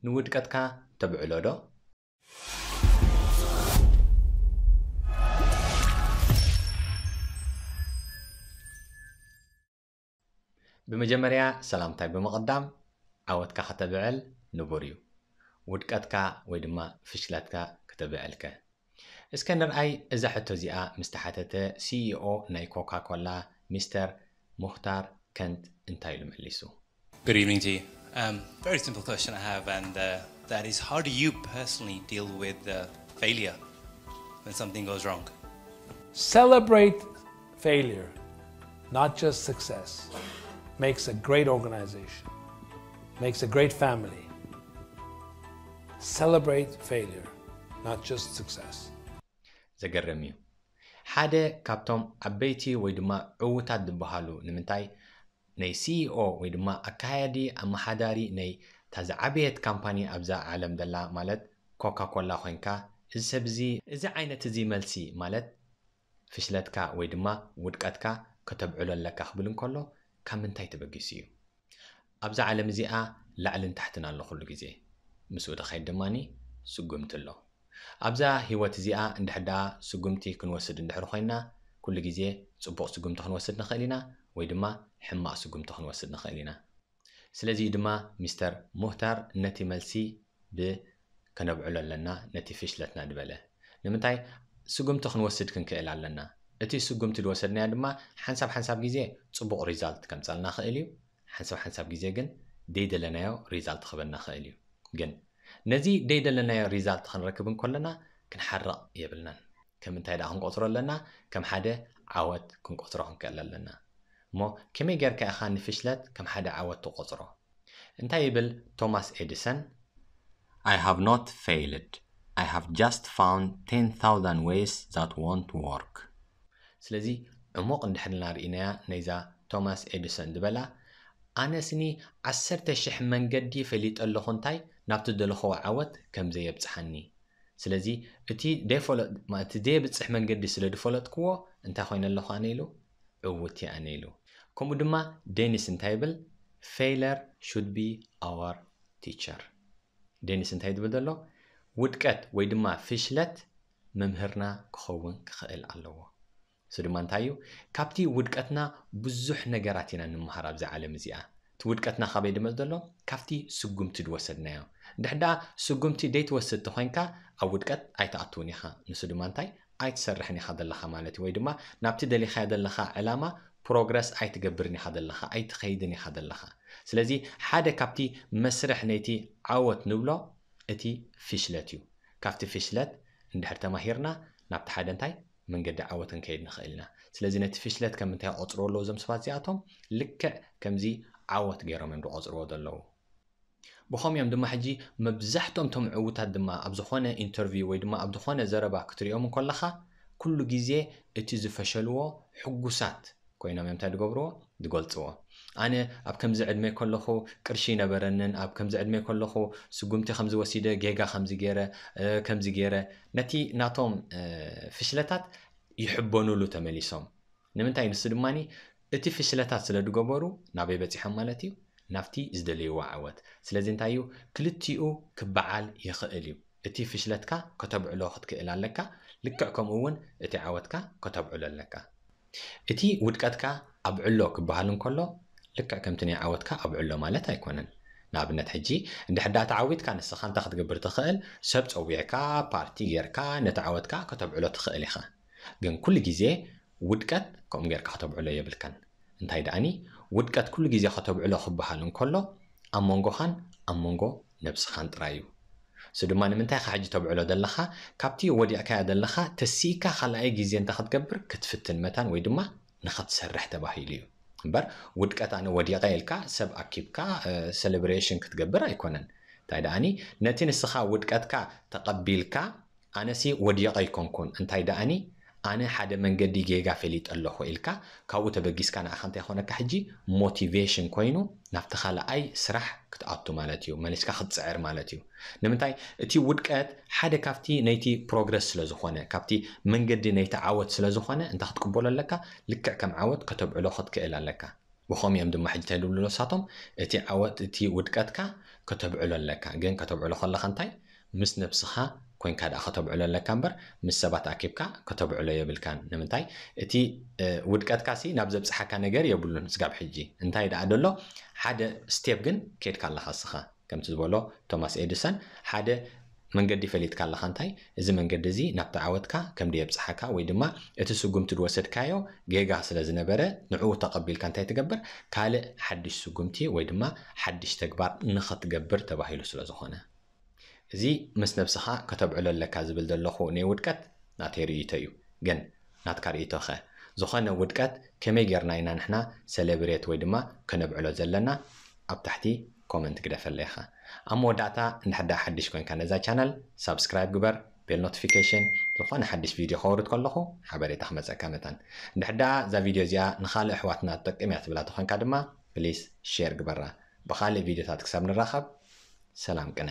ንውድቀትካ ተብዕሎ ዶ? ብመጀመርያ ሰላምታይ ብምቕዳም፣ ዓወትካ ከተብዕል ንቡር እዩ። ውድቀትካ ወይ ድማ ፍሽለትካ ከተብዕልከ? እስከ ንርኣይ፣ እዛ ሕቶ እዚኣ ምስ ተሓተተ፣ ሲኢኦ ናይ ኮካ ኮላ ሚስተር ሙኽታር ከንት እንታይ ኢሉ መሊሱ? Good evening to you. Um, very simple question I have, and uh, that is, how do you personally deal with uh, failure when something goes wrong? Celebrate failure, not just success, makes a great organization, makes a great family. Celebrate failure, not just success. ዘገርም እዩ። ሓደ ካብቶም ዓበይቲ ወይ ድማ ዕዉታት ዝበሃሉ፣ ንምንታይ፣ ናይ ሲኢኦ ወይ ድማ ኣካያዲ ኣመሓዳሪ ናይ እታ ዝዓበየት ካምፓኒ ኣብዛ ዓለም ዘላ፣ ማለት ኮካ ኮላ ኮይንካ፣ እዚ ሰብ እዚ፣ እዚ ዓይነት እዚ መልሲ፣ ማለት ፍሽለትካ ወይ ድማ ውድቀትካ ከተብዕሎ ኣለካ ክብል እንከሎ፣ ካብ ምንታይ ተበጊሱ እዩ? ኣብዛ ዓለም እዚኣ ላዕልን ታሕትን ኣሎ ኩሉ ግዜ። ምስኡ ድኸይድ ድማ ስጉምቲ ኣሎ። ኣብዛ ህይወት እዚኣ እንድሕር ደኣ ስጉምቲ ክንወስድ እንድሕር ኮይና፣ ኩሉ ግዜ ጽቡቕ ስጉምቲ ክንወስድ ንኽእል ኢና፣ ወይ ድማ ሕማቕ ስጉምቲ ክንወስድ ንኽእል ኢና። ስለዚ ድማ ሚስተር ሙህታር ነቲ መልሲ ብ ከነብዕሎ ኣለና፣ ነቲ ፍሽለትና ዝበለ። ንምንታይ? ስጉምቲ ክንወስድ ክንክእል ኣለና። እቲ ስጉምቲ ዝወሰድናዮ ድማ ሓንሳብ ሓንሳብ ግዜ ጽቡቕ ሪዛልት ከምጸልና ክእል እዩ። ሓንሳብ ሓንሳብ ግዜ ግን ደይደለናዮ ሪዛልት ክበና ክእል እዩ። ግን ነዚ ደይደለናዮ ሪዛልት ክንረክብ እንከለና ክንሓርቕ የብልናን። ከም እንታይ ደኣ ክንቆጽሮ ኣለና? ከም ሓደ ዓወት ክንቆጽሮ ክንክእል ኣለና። እሞ ከመይ ጌርካ ኢኻ ንፍሽለት ከም ሓደ ዓወት ትቆጽሮ? እንታይ ይብል ቶማስ ኤዲሰን? I have not failed. I have just found ten thousand ways that won't work. ስለዚ ዕሙቕ እንድሕር ኢልና ርኢናያ ነይዛ ቶማስ ኤዲሰን ዝበላ፣ ኣነስኒ ዓሰርተ ሽሕ መንገዲ ፈሊጠ ኣለኹ እንታይ ናብቲ ደለኽዎ ዓወት ከም ዘየብጽሓኒ። ስለዚ እቲ ደይፈለ-፣ ማ-፣ እቲ ዘየብጽሕ መንገዲ ስለ ዝፈለጥክዎ እንታይ ኮይነ ኣለኹ ኣነ ኢሉ? ዕውት እየ ኣነ ኢሉ። ከምኡ ድማ ዴኒስ እንታይ ይብል? Failure should be our teacher። ዴኒስ እንታይ ዝብል ዘሎ? ውድቀት ወይ ድማ ፍሽለት መምህርና ክኸውን ክኽእል ኣለዎ። እሱ ድማ እንታይ እዩ? ካብቲ ውድቀትና ብዙሕ ነገራት ኢና ንምሃር ኣብዛ ዓለም እዚኣ። እቲ ውድቀትና ካበይ ድመጽእ ዘሎ? ካብቲ ስጉምቲ ዝወሰድናዮ። እንድሕር ደኣ ስጉምቲ ደይትወስድ ተኾይንካ ኣብ ውድቀት ኣይትኣትውን ኢኻ። ንሱ ድማ እንታይ? ኣይትሰርሕን ኢኻ ዘለኻ ማለት እዩ። ወይ ድማ ናብቲ ደሊኻዮ ዘለኻ ዕላማ ፕሮግረስ ኣይትገብርን ኢኻ ዘለኻ፣ ኣይትኸይድን ኢኻ ዘለኻ። ስለዚ ሓደ ካብቲ መስርሕ ነይቲ ዓወት ንብሎ እቲ ፍሽለት እዩ። ካብቲ ፍሽለት እንድሕር ተማሂርና ናብቲ ሓደ እንታይ መንገዲ ዓወት ክንከይድ ንኽእል ኢና። ስለዚ ነቲ ፍሽለት ከም እንታይ ይቆጽርዎ ኣለዉ እዞም ሰባት እዚኣቶም? ልክዕ ከምዚ ዓወት ገይሮም እዮም ዝቆጽርዎ ዘለዉ። ብኸምኡ እዮም ድማ ሕጂ መብዛሕትኦም እቶም ዕዉታት ድማ ኣብ ዝኾነ ኢንተርቪው ወይ ድማ ኣብ ዝኾነ ዘረባ ክትሪኦም እንከለኻ ኩሉ ግዜ እቲ ዝፈሸልዎ ሕጉሳት ኮይኖም እዮም እንታይ ዝገብርዎ? ዝገልጽዎ። ኣነ ኣብ ከምዚ ዕድመ ከለኹ ቅርሺ ይነበረንን፣ ኣብ ከምዚ ዕድመ ከለኹ ስጉምቲ ከምዚ ወሲደ፣ ጌጋ ከምዚ ገይረ፣ እ፣ ከምዚ ገይረ፣ ነቲ ናቶም፣ እ፣ ፍሽለታት ይሕበኑሉ ተመሊሶም። ንምንታይ? ንሱ ድማ እቲ ፍሽለታት ስለ ዝገበሩ ናበይ በጺሖም ማለት እዩ? ናብቲ ዝደለይዎ ዓወት። ስለዚ እንታይ እዩ? ክልቲኡ ክበዓል ይኽእል እዩ። እቲ ፍሽለትካ ከተብዕሎ ክትክእል ኣለካ፣ ልክዕ ከምኡ እውን እቲ ዓወትካ ከተብዕሎ ኣለካ። እቲ ውድቀትካ ኣብዕሎ ክበሃል እንከሎ፣ ልክዕ ከምቲ ናይ ዓወትካ ኣብዕሎ ማለት ኣይኮነን። ንኣብነት ሕጂ እንድሕር ደኣ ተዓዊትካ ንስኻ እንታይ ክትገብር ትኽእል? ሰብ ጸዊዕካ፣ ፓርቲ ጌርካ ነቲ ዓወትካ ከተብዕሎ ትኽእል ኢኻ። ግን ኩሉ ግዜ ውድቀት ከምኡ ጌርካ ከተብዕሎ የብልካን። እንታይ ደኣኒ ውድቀት ኩሉ ግዜ ከተብዕሎ ክበሃል እንከሎ ኣብ መንጎኻን ኣብ መንጎ ነብስኻን ጥራይ እዩ። እሱ ድማ ንምንታይ ኢኻ ሕጂ ተብዕሎ ዘለኻ? ካብቲ ወዲቕካዮ ዘለኻ ተሲእካ ካልኣይ ግዜ እንታይ ክትገብር ክትፍትን መታን ወይ ድማ ንኸትሰርሕ ተባሂሉ እዩ። እምበር ውድቀት ኣነ ወዲቐ ኢልካ ሰብ ኣኪብካ፣ እ፣ ሴሌብሬሽን ክትገብር ኣይኮነን። እንታይ ደኣኒ ነቲ ንስኻ ውድቀትካ ተቐቢልካ ኣነሲ ወዲቐ ኣይኮንኩን፣ እንታይ ደኣኒ ኣነ ሓደ መንገዲ ጌጋ ፈሊጠ ኣለኹ ኢልካ ካብኡ ተበጊስካ ንዓኻ እንታይ ይኾነካ ሕጂ? ሞቲቬሽን ኮይኑ ናብቲ ካልኣይ ስራሕ ክትኣቱ ማለት እዩ፣ መሊስካ ክትጽዕር ማለት እዩ። ንምንታይ? እቲ ውድቀት ሓደ ካብቲ ነይቲ ፕሮግረስ ስለ ዝኾነ፣ ካብቲ መንገዲ ነይቲ ዓወት ስለ ዝኾነ እንታይ ክትቅበሎ ኣለካ? ልክዕ ከም ዓወት ከተብዕሎ ክትክእል ኣለካ። ብኸምኡ እዮም ድማ ሕጂ እንታይ ዝብሉ ንሳቶም? እቲ ዓወት፣ እቲ ውድቀትካ ከተብዕሎ ኣለካ። ግን ከተብዕሎ ከለኻ እንታይ? ምስ ነብስኻ ኮይንካ ደኣ ከተብዕሎ ኣለካ እምበር ምስ ሰባት ኣኪብካ ከተብዕሎ የብልካን። ንምንታይ? እቲ ውድቀትካ ሲ ናብ ዘብፅሓካ ነገር የብሉን ስጋብ ሕጂ። እንታይ ደኣ ደሎ ሓደ ስቴፕ ግን ከድካ ኣለኻ እስኻ። ከምቲ ዝበሎ ቶማስ ኤዲሰን ሓደ መንገዲ ፈሊጥካ ኣለኻ። እንታይ? እዚ መንገዲ እዚ ናብቲ ዓወትካ ከምዲ የብፅሓካ ወይ ድማ እቲ ስጉምቲ ዝወሰድካዮ ጌጋ ስለ ዝነበረ ንዕኡ ተቐቢልካ እንታይ ትገብር? ካልእ ሓድሽ ስጉምቲ ወይ ድማ ሓድሽ ተግባር ንኸትገብር ተባሂሉ ስለ ዝኾነ። እዚ ምስ ነብስኻ ከተብዕሎ ኣለካ ዝብል ዘለኹ ናይ ውድቀት ናተይ ርእይቶ እዩ። ግን ናትካ ርእይቶ ኸ? ዝኾነ ውድቀት ከመይ ጌርና ኢና ንሕና ሰለብሬት ወይ ድማ ከነብዕሎ ዘለና? ኣብ ታሕቲ ኮመንት ግደፈለይ ኢኻ። ኣብ መወዳእታ እንድሕር ደኣ ሓድሽ ኮይንካ ነዛ ቻነል ሳብስክራይብ ግበር፣ ቤል ኖቲፊኬሽን፣ ዝኾነ ሓድሽ ቪድዮ ከወርድ ከለኹ ሓበሬታ ክመፀካ መታን። እንድሕር ደኣ እዛ ቪድዮ እዚኣ ንኻልእ ኣሕዋትና ትጠቅም እያ ትብላ ተኾንካ ድማ ፕሊስ ሼር ግበራ። ብኻልእ ቪድዮታት ክሳብ ንራኸብ ሰላም ቅነ።